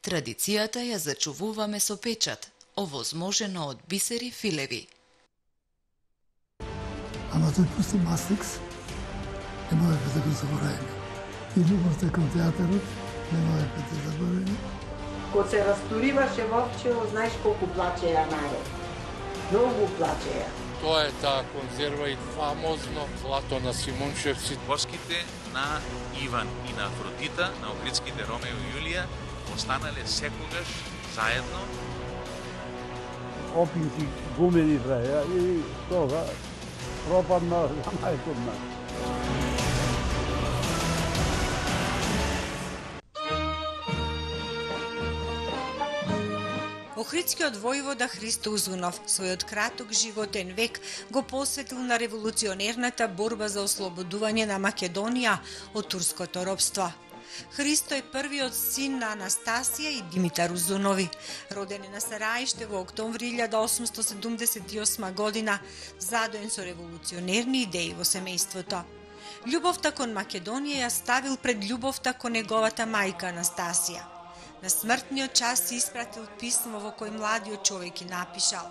Традицијата ја зачувуваме со печат, овозможено од бисери филеви. Ама тој пусти Мастрикс, не можеме да го заборавиме. И љубовта кон театарот, не можеме да заборавиме. Кога се растуриваше Вовчево, знаеш колку плачеја народ. Многу плачеја. Тоа е таа конзерва и фамозно злато на Симунчевци. Воските на Иван и на Афродита, на Охридските Ромео и Јулија, останале секогаш заедно. Опинци гумени траја и тога пропадна за најкодна. Охридскиот војвода Христо Узунов својот краток животен век го посветил на револуционерната борба за ослободување на Македонија од турското робство. Христо е првиот син на Анастасија и Димитар Узунови. Роден е на Сараиште во октомври 1878 година, задоен со револуционерни идеи во семејството. Љубовта кон Македонија ја ставил пред љубовта кон неговата мајка Анастасија. На смртниот час си испратил писмо во кој младиот човек и напишал: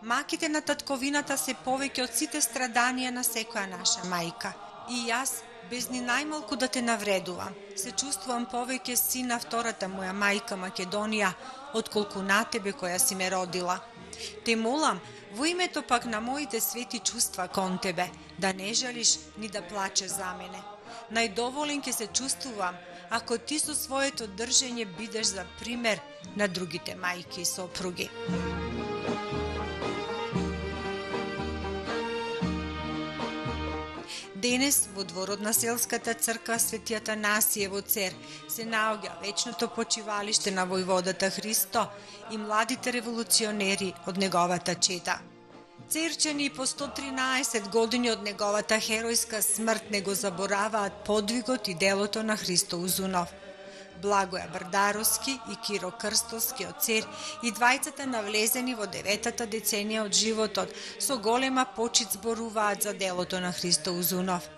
"Маките на татковината се повеќе од сите страданија на секоја наша мајка. И јас, без ни најмалку да те навредувам, се чувствувам повеќе син на втората моја мајка Македонија, отколку на тебе која си ме родила. Те молам, во името пак на моите свети чувства кон тебе, да не жалиш ни да плачеш за мене. Најдоволен ќе се чувствувам ако ти со своето држење бидеш за пример на другите мајки и сопруги." Денес во дворот на селската црква Свети Атанасије во Цер се наоѓа вечното почивалиште на војводата Христо и младите револуционери од неговата чета. Церчани по 113 години од неговата херојска смрт не го забораваат подвигот и делото на Христо Узунов. Благоја Брдаровски и Киро Крстовски од Цер и двајцата навлезени во 9-та деценија од животот со голема почит зборуваат за делото на Христо Узунов.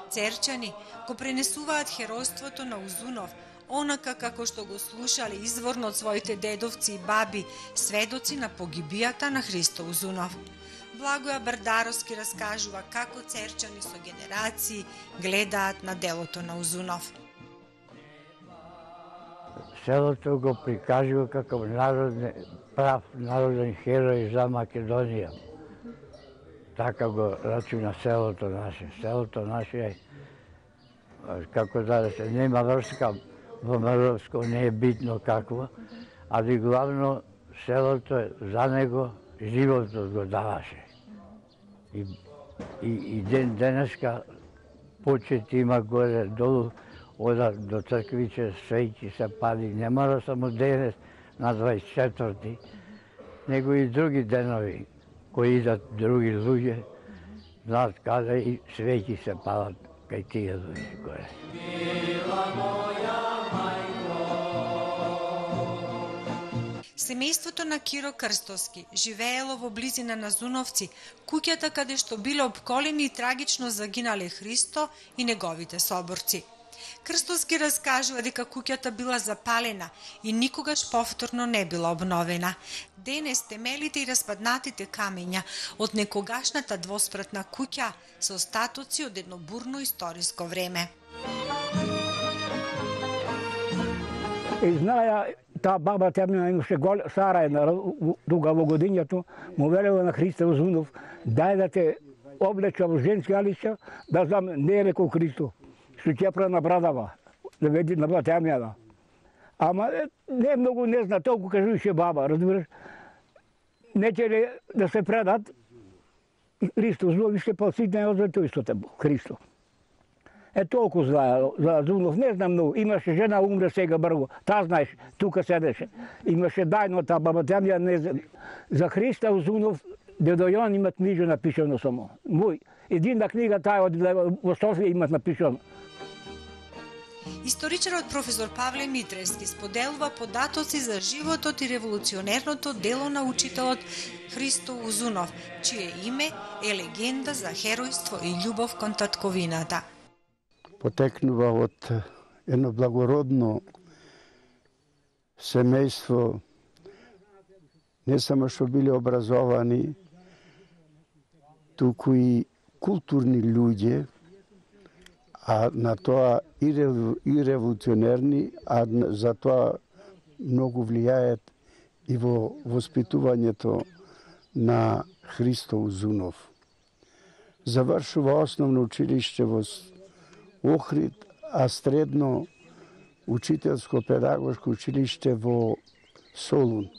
Церчани го пренесуваат херојството на Узунов, онака како што го слушале изворно од своите дедовци и баби, сведоци на погибијата на Христо Узунов. Благоја Брдаровски раскажува како церчани со генерации гледаат на делото на Узунов. Селото го прикажува како прав народен херој за Македонија. Така го рачуна селото наше. Селото наше е, како да се нема врска во Маровско, не е битно какво, али главно селото е за него, животот го даваше. И ден денеска почет има горе долу, одат до црквиче, свеќи се пали, не мора само денес на 24-ти, него и други денови, кои идат други луѓе, знаат каде и свеќи се палат кај тие луѓе горе. Семејството на Киро Крстовски живеело во близина на Зуновци, куќата каде што биле обколени и трагично загинале Христо и неговите соборци. Крстовски раскажува дека куќата била запалена и никогаш повторно не била обновена. Денес темелите и распаднатите камења од некогашната двоспратна куќа се остатоци од едно бурно историско време. Знаја, таа баба темна имаше стара една, тука во годињето, му велела на Христо Узунов, дај да те облеча во женски алица, да знам не е леко Христо, што ќе прави на брадава, да веди на темјада. Ама не многу не зна, толку кажуваше баба, разбираш. Не ќе ли да се предат, Христо Узунов ще поситне од тој истото Христо. Е толку знаја за Узунов, не знам многу. Имаше жена, умре сега брго. Таа знаеш, тука седеше. Имаше дајно таа баба темја, не знам. За Христа Узунов, дедо Јон имат книжа напишано само. Мој. Едина книга таа од во Софија имат напишано. Историчарот професор Павле Митревски споделува податоци за животот и револуционерното дело на учителот Христо Узунов, чие име е легенда за херојство и љубов кон татковината. Потекнува од едно благородно семејство не само што биле образовани, туку и културни луѓе, а на тоа и револуционерни, а за тоа многу влијаат и во воспитувањето на Христо Узунов. Завршува основно училиште во Охрид, а средно учителско-педагошко училиште во Солун.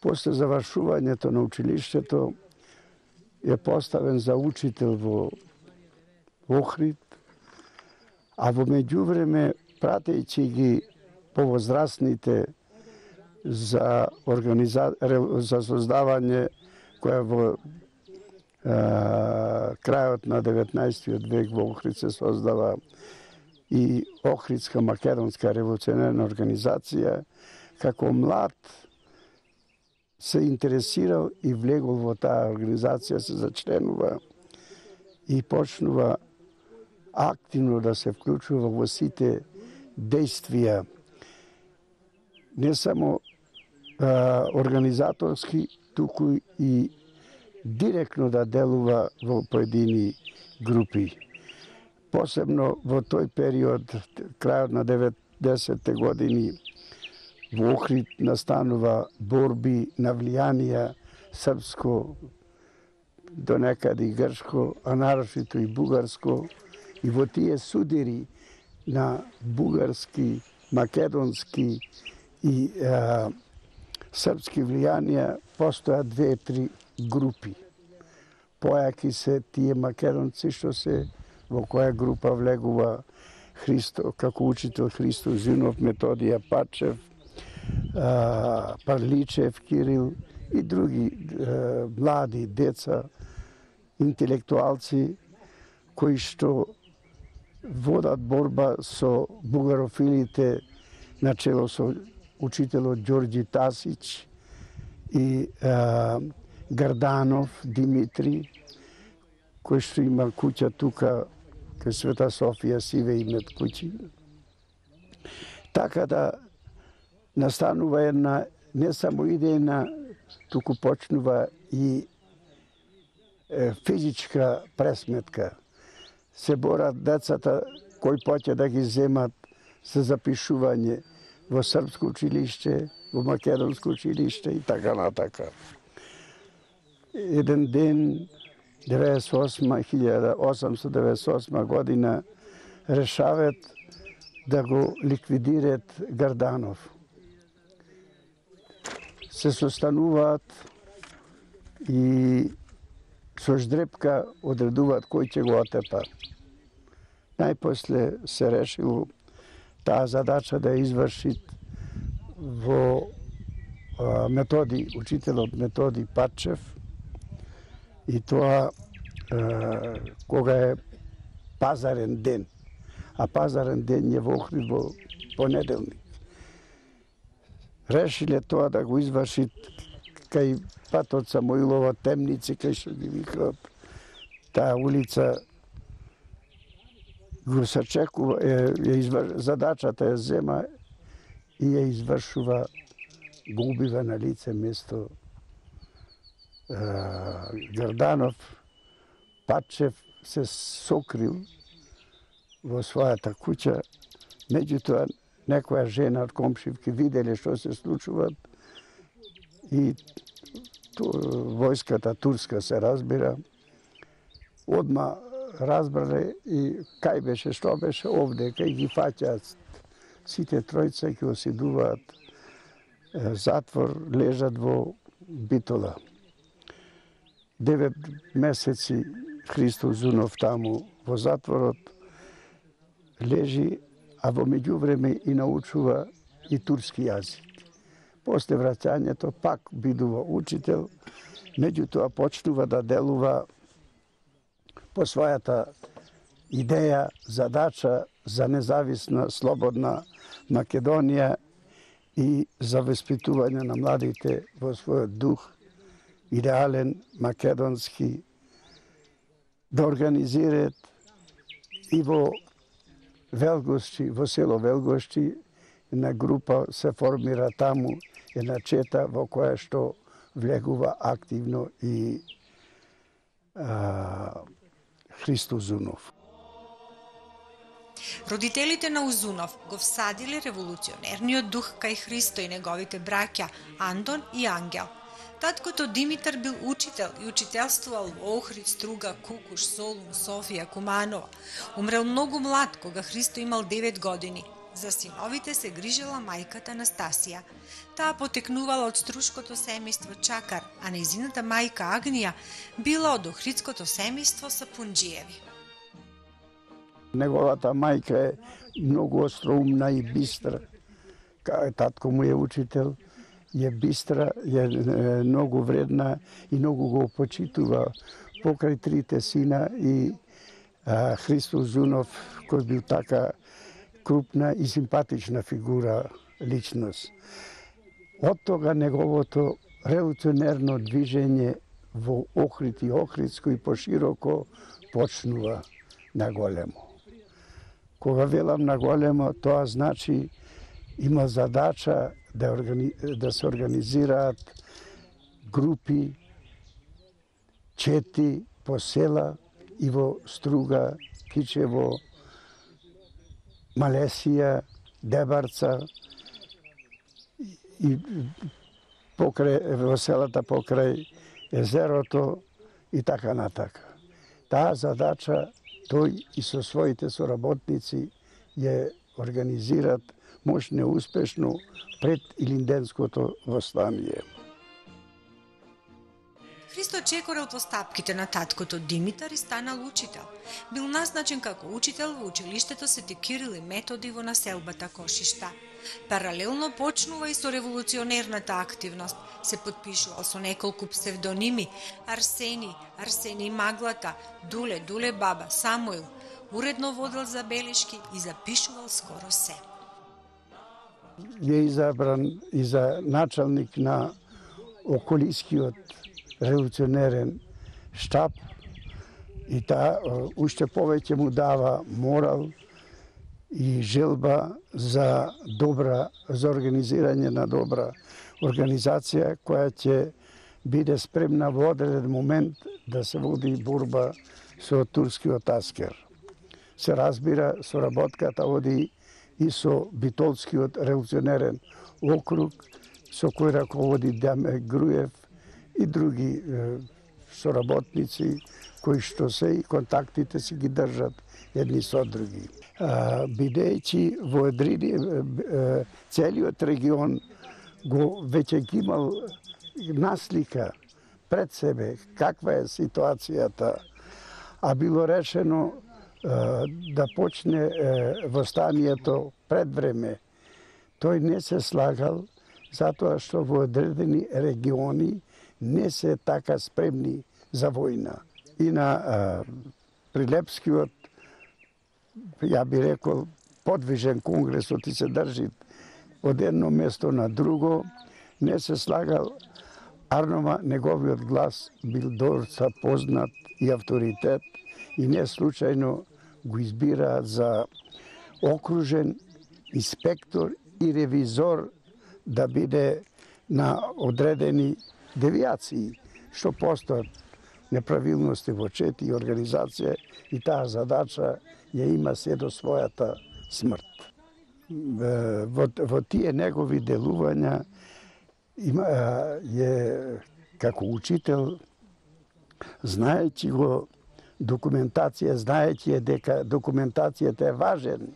После завршувањето на училиштето е поставен за учител во Охрид, а во меѓувреме, пратејќи ги повозрастните за создавање која во крајот на 19 век во Охрид се создава и Охридска македонска револуционерна организација, како млад се интересирал и влегол во таа организација, се зачленува и почнува активно да се вклучува во сите действија, не само организаторски, туку и директно да делува во поедини групи. Посебно во тој период, крајот на 90-те години, во Охрид настанува борби на влијанија српско, до некаде и грчко, а нарошито и бугарско, и во тие судири на бугарски, македонски и српски влијанија постоја 2-3 групи. Појаки се тие македонци што се во која група влегува Христо, како учител Христо Узунов, Методија Пачев, Парличев, Кирил и други млади деца, интелектуалци кои што водат борба со бугарофилите начело со учителот Ѓорѓи Тасич и Гарданов Димитри, кој што има куќа тука кај Света Софија, Сиве имет куќи. Така да настанува една не само идејна, туку почнува и физичка пресметка. Се борат децата кои поќе да ги земат за запишување во српско училиште, во македонско училиште и така натака. Еден ден, 1898 година, решават да го ликвидират Гарданов. Се состануваат и со ждрепка одредуваат кој ќе го отепа. Најпосле се решило таа задача да изврши во учителот Методи Пачев, и тоа кога е пазарен ден, а пазарен ден е во Охрид во понеделник. Решиле тоа да го изврши кај патот Самоилова Темници, кај што ги викаат таа улица, го сачекува, задачата ја зема и ја извршува, го убива на лице место Гарданов. Пачев се сокрил во својата куќа, меѓутоа некоја жена од комшивки виделе што се случува и војската турска се разбира, одма разбрале и кај беше, што беше овде, кај ги фаќаат сите тројца, ќе оседуваат затвор, лежат во Битола. 9 месеци Христо Узунов таму во затворот лежи, а во меѓувреме и научува и турски јазик. После враќањето пак бидува учител, меѓутоа почнува да делува по својата идеја, задача за независна, слободна Македонија и за воспитување на младите во својот дух, идеален, македонски, да организираат и во Велгошчи, во село Велгошчи, една група се формира таму, една чета во која што влегува активно и Христо Узунов. Родителите на Узунов го всадиле револуционерниот дух кај Христо и неговите браќа Андон и Ангел. Таткото Димитар бил учител и учителствувал во Охрид, Струга, Кукуш, Солун, Софија, Куманова. Умрел многу млад, кога Христо имал 9 години. За синовите се грижела мајката Настасија. Таа потекнувала од струшкото семејство Чакар, а нејзината мајка Агнија била од охридското семејство Сапунџиеви. Неговата мајка е многу остроумна и бистра. Татко му е учител, е бистра, е многу вредна и многу го почитува покрај трите сина и Христо Узунов, кој бил така крупна и симпатична фигура, личност. Од тога неговото револуционерно движење во Охрид и Охридско и пошироко почнува на големо. Кога велам на големо, тоа значи има задача да се организираат групи, чети по села и во Струга, Кичево, Малесија, Дебарца и во селата покрај езерото и така натака. Таа задача тој и со своите соработници ја организират мощно и успешно пред Илинденското востание. Христо чекорел по стапките на таткото Димитар и станал учител. Бил назначен како учител во училиштето Свети Кирил и Методи во населбата Кошишта. Паралелно почнува и со револуционерната активност. Се подпишувал со неколку псевдоними: Арсени Маглата, Дуле Баба, Самуил. Уредно водел забелешки и запишувал скоро се. Е избран и за началник на околискиот револуционерен штаб и таа уште повеќе му дава морал и желба за организирање на добра организација која ќе биде спремна во одреден момент да се води борба со турскиот аскер. Се разбира, соработката оди и со Битолскиот револуционерен округ, со кој раководи Дамир Груев и други соработници кои што се и контактите си ги држат едни со други. Бидејќи во целиот регион го веќе ги имал наслика пред себе каква е ситуацијата, а било решено да почне востанието пред време, тој не се слагал затоа што во одредени региони не се така спремни за војна. И на Прилепскиот, ја би рекол, подвижен конгресот и се држи од едно место на друго, не се слагал, арнома неговиот глас бил доста познат и авторитет и не случајно го избираат за окружен инспектор и ревизор да биде на одредени девијации, што постојат неправилности во чети и организација и таа задача ја има се до својата смрт. Во тие негови делувања како учител, знаејќи го знаејќи дека документацијата е важен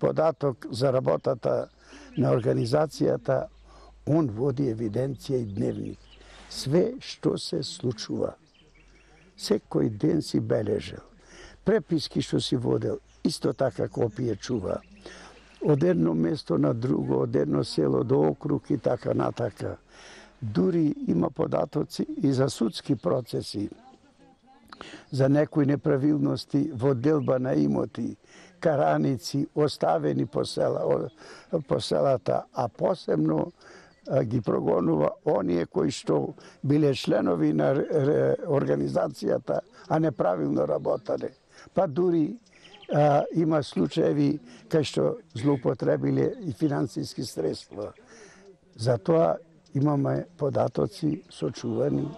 податок за работата на организацијата, он води евиденција и дневник. Све што се случува. Секој ден си бележел. Преписки што си водел, исто така копие чува. Од едно место на друго, од едно село до округ и така натака. Дури има податоци и за судски процеси, за некои неправилности во делба на имоти, караници оставени по селата, а посебно ги прогонува оние кои што биле членови на организацијата, а неправилно работале. Па дури има случаеви кај што злоупотребиле и финансиски средства. Затоа имаме податоци сочувани.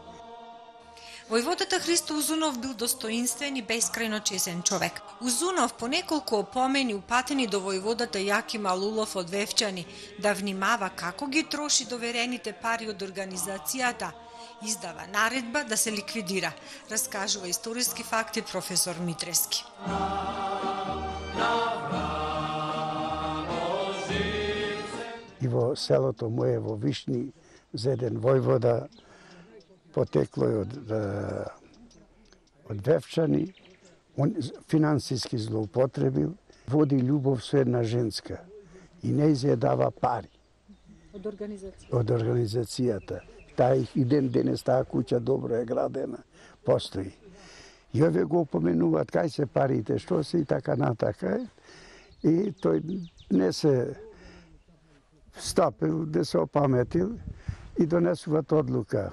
Војводата Христо Узунов бил достоинствен и бескрајно чесен човек. Узунов по неколку опомени упатени до војводата Јаким Алулов од Вевчани да внимава како ги троши доверените пари од организацијата, издава наредба да се ликвидира, раскажува историски факти професор Митрески. И во селото моје во Вишни за еден војвода потекло е од Вевчани, он финансиски злоупотребил, води љубов со една женска и не изјадава пари. Од организацијата. Таа и денес таа куќа добро е градена, постои. И овие го упоменуваат кај се парите, што се и така натака. И тој не се стапил, да се опаметил и донесуваат одлука.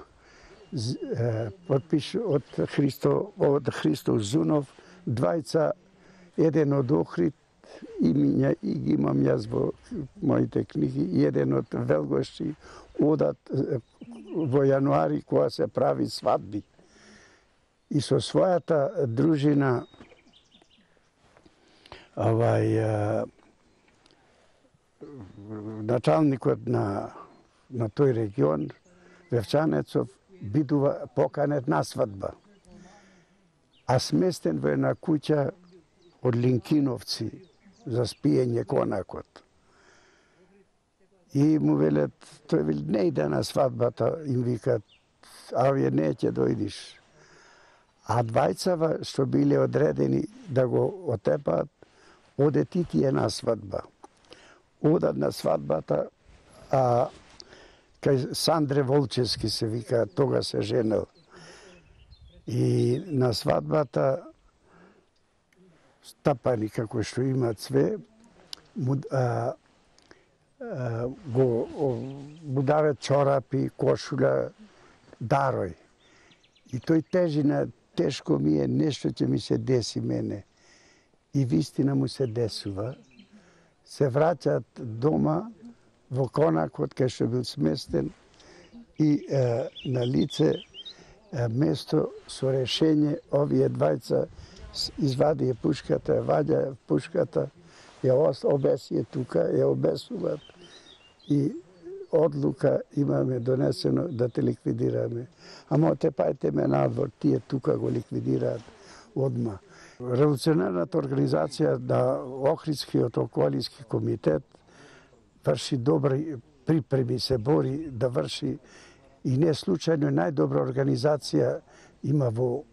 Подпиш од Христо Узунов, двајца, еден од Охрид, и ги имам јас во моите книги, и еден од Велгоши, одат во јануари кога се прави свадби. И со својата дружина началникот на тој регион, Вевчанецов, бидува поканет на свадба. А сместен во една куќа од Линкиновци за спиење конакот. И му велат, тој вели, не иде на свадбата, им викат, а овие не ќе дојдиш. А двајцава што биле одредени да го отепаат, оде тие на свадба. Одат на свадбата, а кај Сандре Волчевски се вика, тога се женел. И на свадбата стапани како што имаат све, му дават чорапи, кошуля, дарој. И тој тежина, тешко ми е, нешто ќе ми се деси мене. И вистина му се десува. Се враќаат дома, во конакот кај што бил сместен и на лице место со решение овие двајца извади пушката, ваѓа пушката, ја обеси тука, ја обесуваат и одлука имаме донесено да те ликвидираме. Ама отепајте ме надвор, тие тука го ликвидираат одма. Револуционарната организација на Охридскиот околиски комитет врши добри припреми, се бори да врши и не случајно најдобра организација има во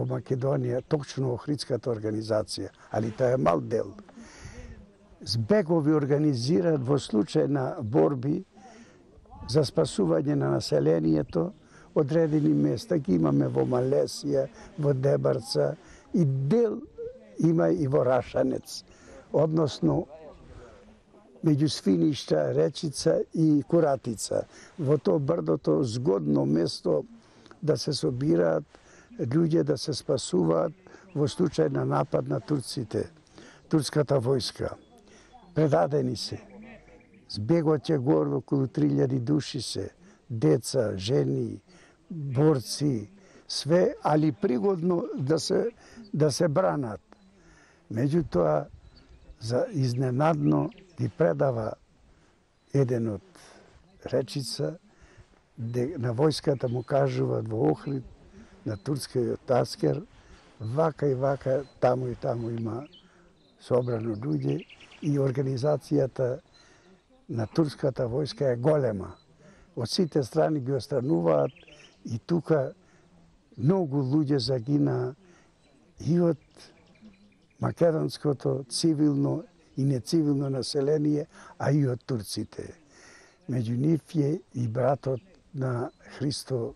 Македонија, точно Охридската организација, али тоа е мал дел. Збегови организираат во случај на борби за спасување на населението одредени места. Ги имаме во Малесија, во Дебарца и дел има и во Рашанец, односно меѓу Свиништа, Речица и Куратица. Во тоа брдото згодно место да се собираат луѓе, да се спасуваат во случај на напад на турците, турската војска. Предадени се. Збегот е горе околу 3000 души се, деца, жени, борци, све, али пригодно да се бранат. Меѓутоа, за изненадно ги предава еден од Речица, на војската му кажуваат во Охрид, на турскиот аскер, вака и вака, таму и таму има собрано луѓе и организацијата на турската војска е голема. Од сите страни ги острануваат и тука многу луѓе загина и од македонското цивилно и нецивилно население, а и од турците. Меѓу нив е и братот на Христо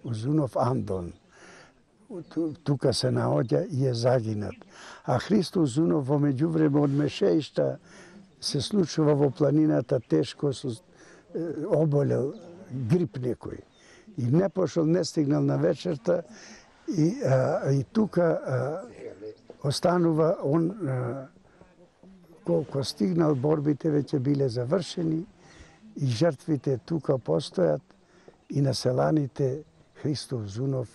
Узунов Андон. Тука се наоѓа и е загинат. А Христо Узунов во меѓувреме од Мешеишта се случува во планината тешко, оболел, грип некој. И не пошол, не стигнал на вечерта И тука останува он, колко стигнал, борбите веќе биле завршени и жртвите тука постојат и на селаните Христов Зунов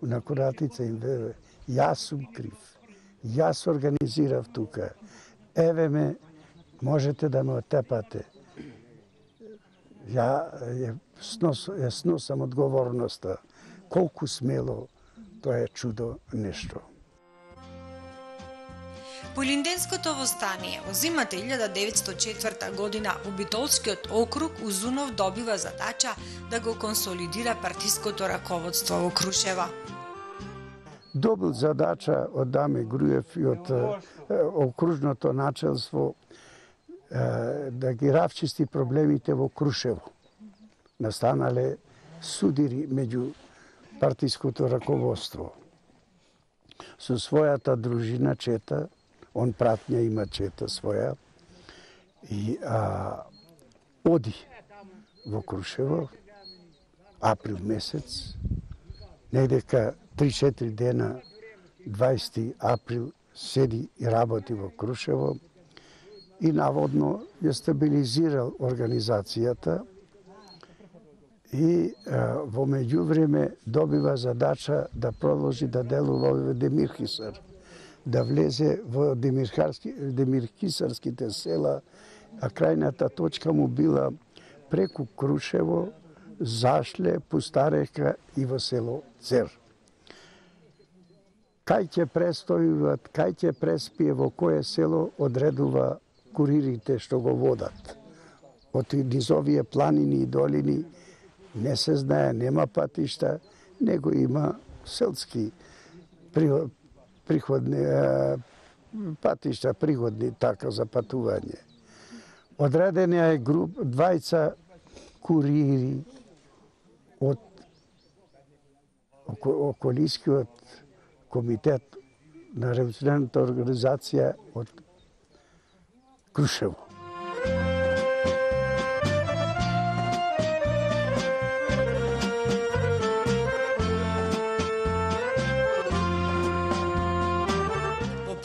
на Коратица им вее, јас сум крив, јас организирав тука, еве ме, можете да ме отепате. Ја сносам одговорноста. Колку смело, тоа е чудо нешто. По Илинденското востание во зимата 1904 година во Битолскиот округ Узунов добива задача да го консолидира партиското раководство во Крушева. Добил задача од Даме Груев и од окружното начелство да ги равчисти проблемите во Крушево. Настанале судири меѓу партиското раководство. Со својата дружина чета, он пратња има чета своја, и оди во Крушево, април месец, недека 3-4 дена, 20 април, седи и работи во Крушево и наводно ја стабилизирал организацијата и во меѓувреме добива задача да продолжи да делува во Демирхисар, да влезе во демирхисарските села, а крајната точка му била преку Крушево, Зашле, Пустарека и во село Цер. Кај ќе престојуват, кај ќе преспие, во кое село одредува куририте што го водат. Од низовие планини и долини не се знае, нема патишта, него има селски приходни патишта, пригодни така за патување. Одредена е двајца курири од околискиот комитет на револуционарната организација од Крушево.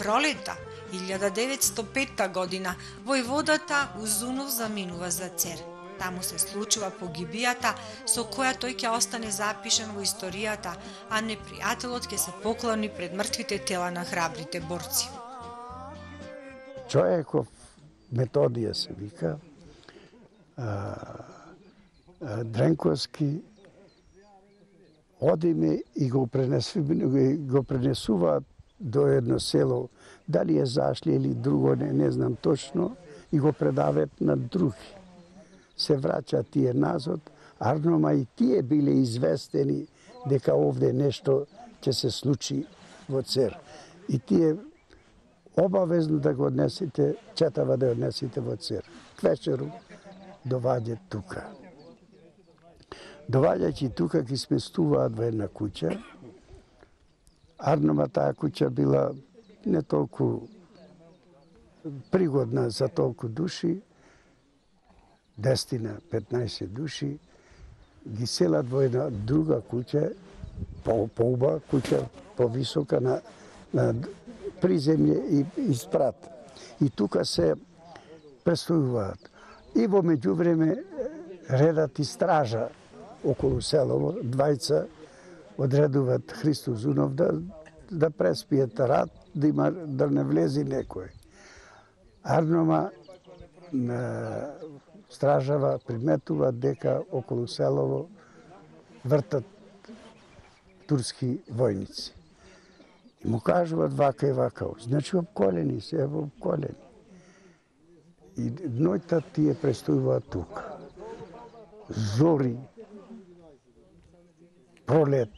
Пролета 1905 година војводата Узунов заминува за Цер. Таму се случува погибијата со која тој ќе остане запишан во историјата, а непријателот ќе се поклони пред мртвите тела на храбрите борци. Човеков Методија се вика, Дренковски, одиме и го пренесуваат до едно село, дали е Зашле или друго, не знам точно, и го предават на други. Се враќа тие назад, арнома и тие биле известени дека овде нешто ќе се случи во Цер. И тие обавезно да го однесите, четава да однесите во Цер. Квечеру доваѓа тука. Доваѓајќи тука ги сместуваат во една куќа. Арнома таа куќа била не толку пригодна за толку души, 10-15 души, ги селат во една друга куќа, поуба куќа, повисока на приземје и спрат. И тука се престојуваат. И во меѓувреме редат и стража околу селово, двајца одредуваат Христов Зунов да преспиет рад, да не влези некој. Арнома стражава приметува дека околу селово вртат турски војници. И му кажуваат вака и вака. Значи обколени се, ево обколени. И ноќта тие престојуваат тука. Зори, пролет,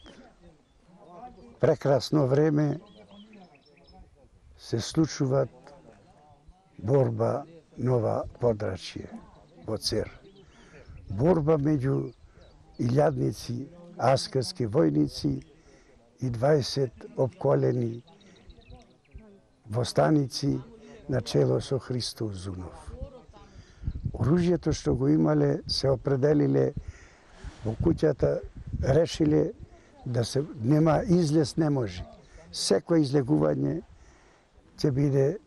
прекрасно време, се случуваат борба нова подрачје во Цер. Борба меѓу илјадници, аскарски војници и 20 обколени востаници на чело со Христов Зунов. Оружјето што го имале се определиле во куќата, решиле да се нема излез не може. Секој излегување ќе биде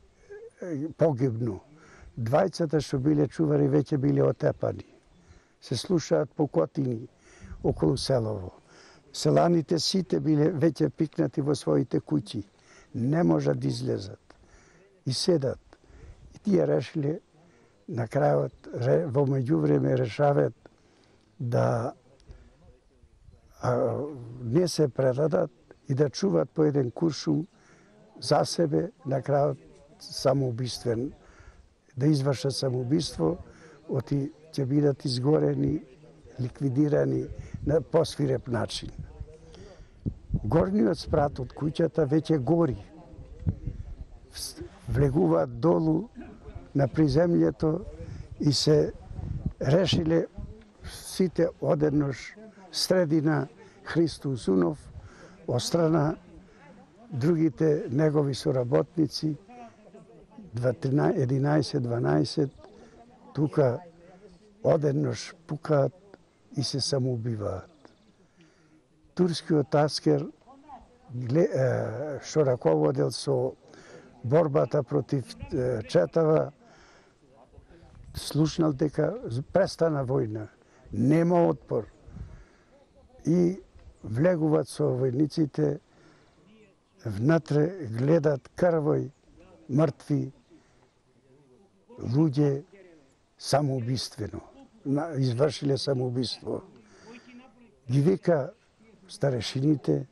погибно. Двајцата што биле чувари веќе биле отепани. Се слушаат покотини околу селово. Селаните сите биле веќе пикнати во своите куќи. Не можат да излезат. И седат. И тие решиле на крајот, во меѓувреме решават да не се предадат и да чуват по еден куршум за себе, на крајот самоубиствен, да извршат самоубиство, оти ќе бидат изгорени, ликвидирани на посвиреп начин. Горниот спрат од куќата веќе гори. Влегуваат долу на приземјето и се решиле сите одеднош средина Христо Узунов, острана другите негови соработници, 11-12, тука одеднош пукаат и се самоубиваат. Турскиот аскер, што раководел со борбата против четава, слушнал дека престана војна, нема отпор. И влегуваат со војниците, внатре гледат крвој, мртви, луѓе самоубиствено, извршиле самоубиство. Ги вика старешините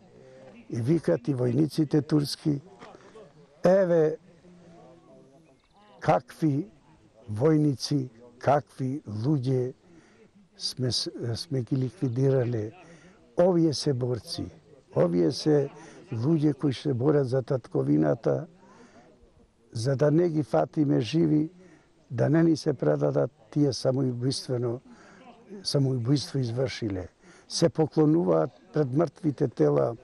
и викат и војниците турски, еве какви војници, какви луѓе сме ги ликвидирале. Овие се борци, овие се луѓе кои се борат за татковината, за да не ги фатиме живи, да не ни се предадат, тие самоубиство извршиле. Се поклонуваат пред мртвите тела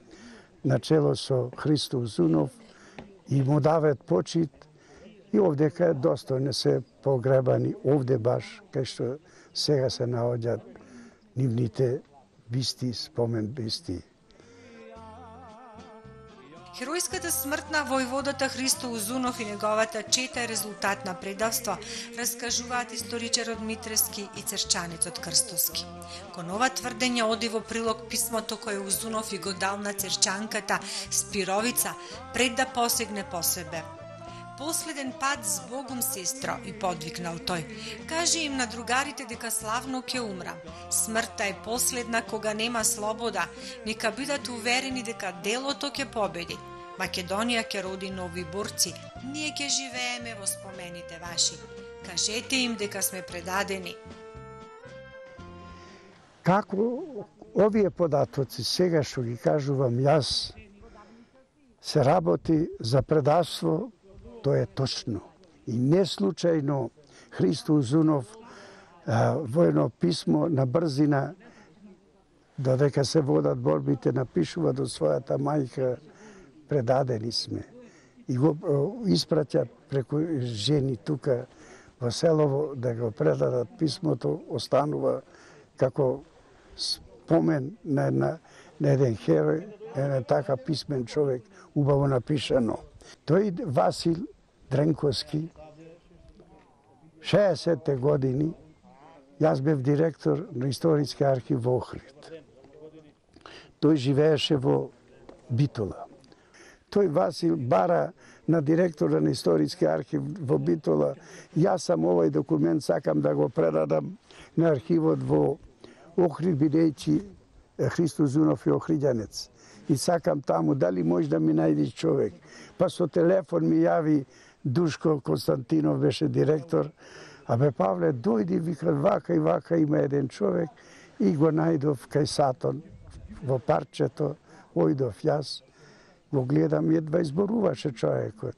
начело со Христо Узунов и му дават почит, и овдека е достојно се погребани, овде баш, кај што сега се наоѓаат нивните бисти, спомен бисти. Херојската смрт на војводата Христо Узунов и неговата чета е резултат на предавство, раскажуваат историчарот Митрески и црчанецот Крстовски. Кон ова тврдење оди во прилог писмото кое Узунов и го дал на црчанката Спировица пред да посегне по себе. Последен пат с Богом, сестро, и подвикнал тој. Кажи им на другарите дека славно ќе умрам. Смртта е последна кога нема слобода. Нека бидат уверени дека делото ќе победи. Македонија ќе роди нови борци. Ние ќе живееме во спомените ваши. Кажете им дека сме предадени. Како овие податоци сега што ги кажувам јас, се работи за предавство, тоа е точно. И не случајно Христо Узунов во едно писмо на брзина, додека се водат борбите, напишува до својата мајка, предадени сме. И го испраќа преку жени тука во селово да го предадат писмото, останува како спомен на еден херој, еден така писмен човек, убаво напишано. Тој Васил Дренковски, 60-те години, јас бев директор на Историски архив во Охрид. Тој живееше во Битола. Тој Васил бара на директора на Историски архив во Битола. Јас сам овој документ сакам да го предадам на архивот во Охрид, бидејќи Христо Узунов е охриѓанец. И сакам таму, дали може да ми најдеш човек. Па со телефон ми јави Душко Константинов, беше директор. Абе, Павле, дојди, вика, вака и вака, има еден човек. И го најдов кај Сатон, во парчето, ојдов јас, го гледам, едва изборуваше човекот.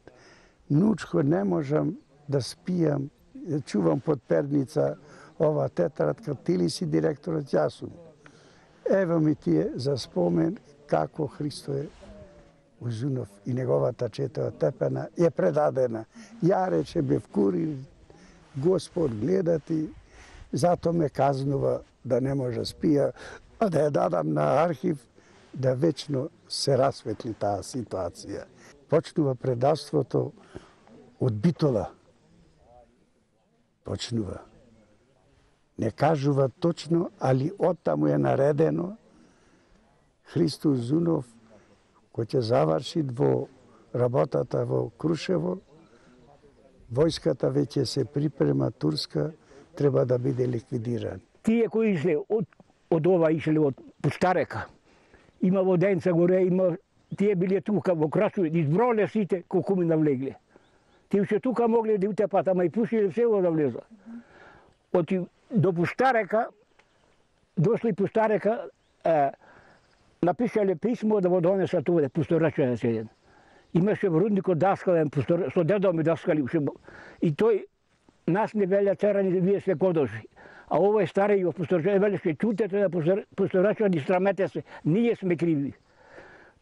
Нучко, не можам да спијам, чувам под перница ова тетрадка, ти ли си директорот, јас сум. Ево ми тие за спомен како Христо Узунов и неговата чета отепена е предадена. Ја рече бев курир, Господ гледати, зато ме казнува да не може спија, а да ја дадам на архив да вечно се расветли таа ситуација. Почнува предавството од Битола. Почнува. Не кажува точно, али оттаму е наредено Христо Узунов, кој ќе заврши во работата во Крушево, војската веќе се припрема турска, треба да биде ликвидиран. Тие кои ишле од ова ишле од Пустарека, има Воденца горе, има тие биле тука во Красови, изброле сите колку ми навлегле. Тие уште тука могле да утепат, ама и пушиле село да влезат. До Пустарека, дошли Пустарека, напишале писмо да го донесат овде, Пустарачен седен. Имаше рудник од Даскален, со дедо ми Даскали. И тој, нас не велја церани, вие сте кодоши. А овој стари во Пустарачен велеше, чутете да Пустарачен и срамете се, ние сме криви.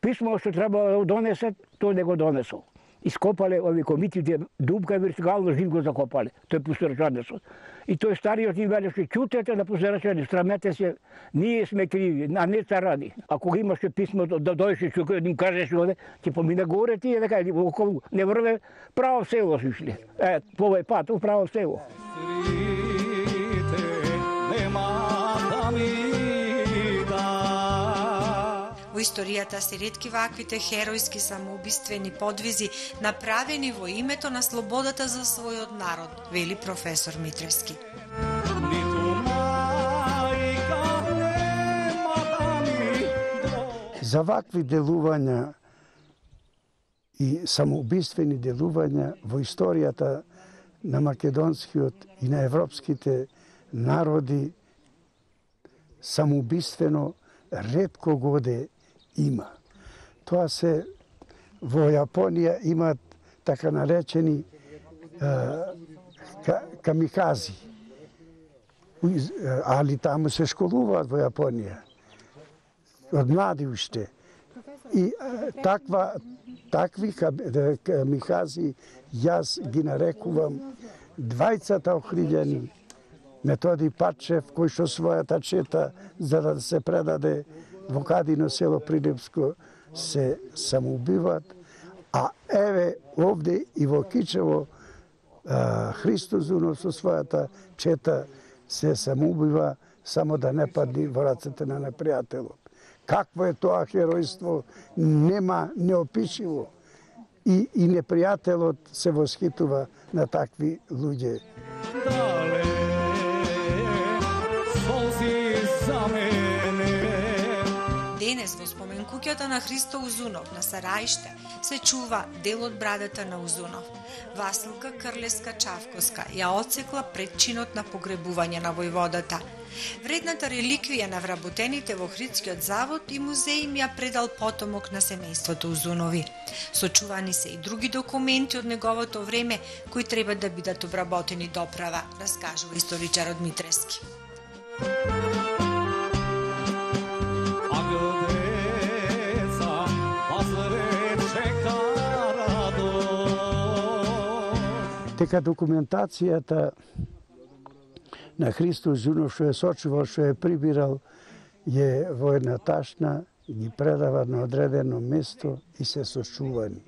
Писмо што треба да донесат, тој не го донесол. Ископале ови комитите, дупка вертикално жив го закопале, тој Пустарачанецот. И тој стариот им велеше, чутете да Пустарачани, срамете се, ние сме криви, а не царани. А кога имаше писмо да дојше, што им кажеше овде, ќе помине горе тие, дека не врве, право село се ушли. По овој пат, право село. Во историјата се ретки ваквите херојски самоубиствени подвизи направени во името на слободата за својот народ, вели професор Митревски. За вакви делувања и самоубиствени делувања во историјата на македонскиот и на европските народи самоубиствено ретко годе има. Тоа се во Јапонија имат така наречени камикази. Али таму се школуваат во Јапонија. Од млади уште. И такви камикази јас ги нарекувам двајцата охриѓани Методи Патчев, кој што својата чета за да се предаде во Кадино село Прилепско се самоубиват, а еве овде и во Кичево Христо Узунов со својата чета се самоубива само да не падне во рацете на непријателот. Какво е тоа херојство? Нема неопишиво. И непријателот се восхитува на такви луѓе. Денес во спомен куќата на Христо Узунов на Сараиште се чува дел од брадата на Узунов. Василка Крлеска-Чавковска ја отсекла предчинот на погребување на војводата. Вредната реликвија на вработените во Охридскиот завод и музеј им ја предал потомок на семејството Узунови. Сочувани се и други документи од неговото време кои треба да бидат обработени доправа, раскажува историчарот Митревски. Дека документацијата на Христо Узунов што е сочувал, што е прибирал, е во една ташна, ги предава на одредено место и се сочувани.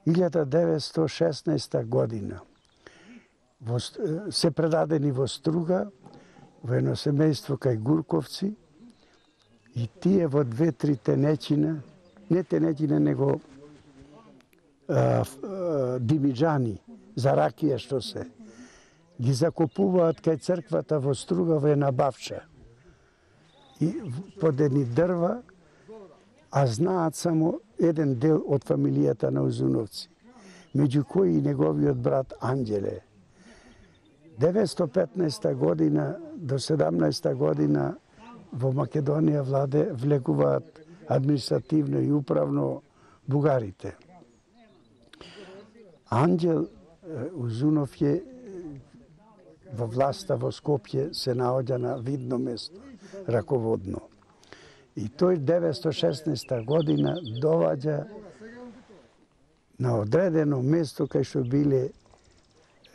1916 година се предадени во Струга, во едно семејство кај Гурковци, и тие во 2-3 тенечина, не тенечина, него димиджани, за ракија што се, ги закопуваат кај црквата во Струга во една бавча. И под едни дрва, а знаат само еден дел од фамилијата на Узуновци, меѓу кои и неговиот брат Анđеле. 915 година до 17 година во Македонија влегуваат административно и управно бугарите. Анđел Узунов е во власта во Скопје се наоѓа на видно место, раководно. И тој 916 година доваѓа на одредено место кај што биле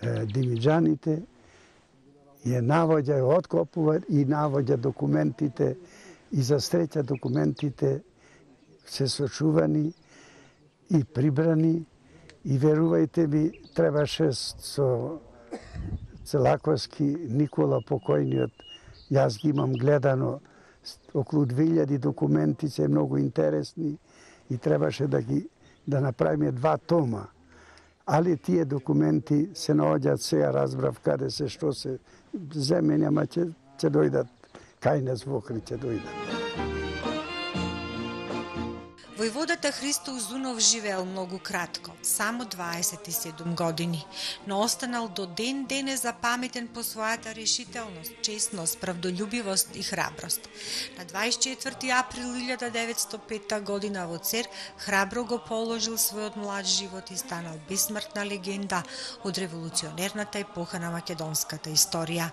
димиджаните, ја навоѓа, откопува и навоѓа документите И за среќа документите се сочувани и прибрани и верувајте ми, требаше со Целаковски Никола покојниот, јас ги имам гледано, околу 2000 документи се многу интересни и требаше да направиме 2 тома. Али тие документи се наоѓаат сега, разбрав каде се, што се земе, нема ќе дојдат, кај нас во Охрид ќе дојдат. Војводата Христо Узунов живеел многу кратко, само 27 години, но останал до ден денес запаметен по својата решителност, честност, правдолюбивост и храброст. На 24 април 1905 година во Цер храбро го положил својот млад живот и станал бесмртна легенда од револуционерната епоха на македонската историја.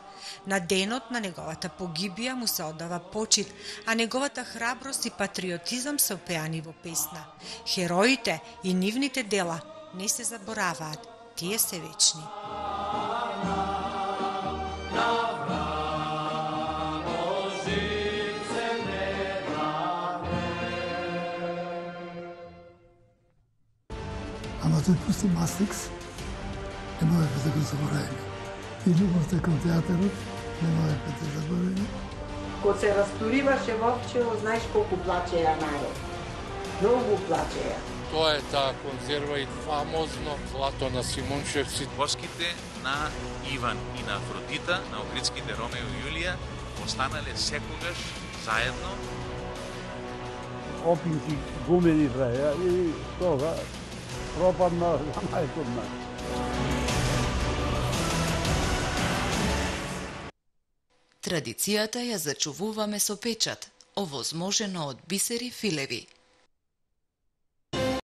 На денот на неговата погибија му се оддава почит, а неговата храброст и патриотизам се опеани во песна. Хероите и нивните дела не се забораваат, тие се вечни. Ама тој пусти Мастрикс, не можеме да го заборавиме. И љубовта кон театарот, не можеме да заборавиме. Кога се растуриваше Вовчево, знаеш колку плачеја народ. Многу плачеја. Тоа е таа конзерва и фамозно злато на Симунчевци. Воските на Иван и на Афродита, на Охридските Ромео и Јулија, останале секогаш заедно. Опинци, гумени праја и тога пропадна за мајкот нас. Традицијата ја зачувуваме со печат, овозможено од Бисери Филеви.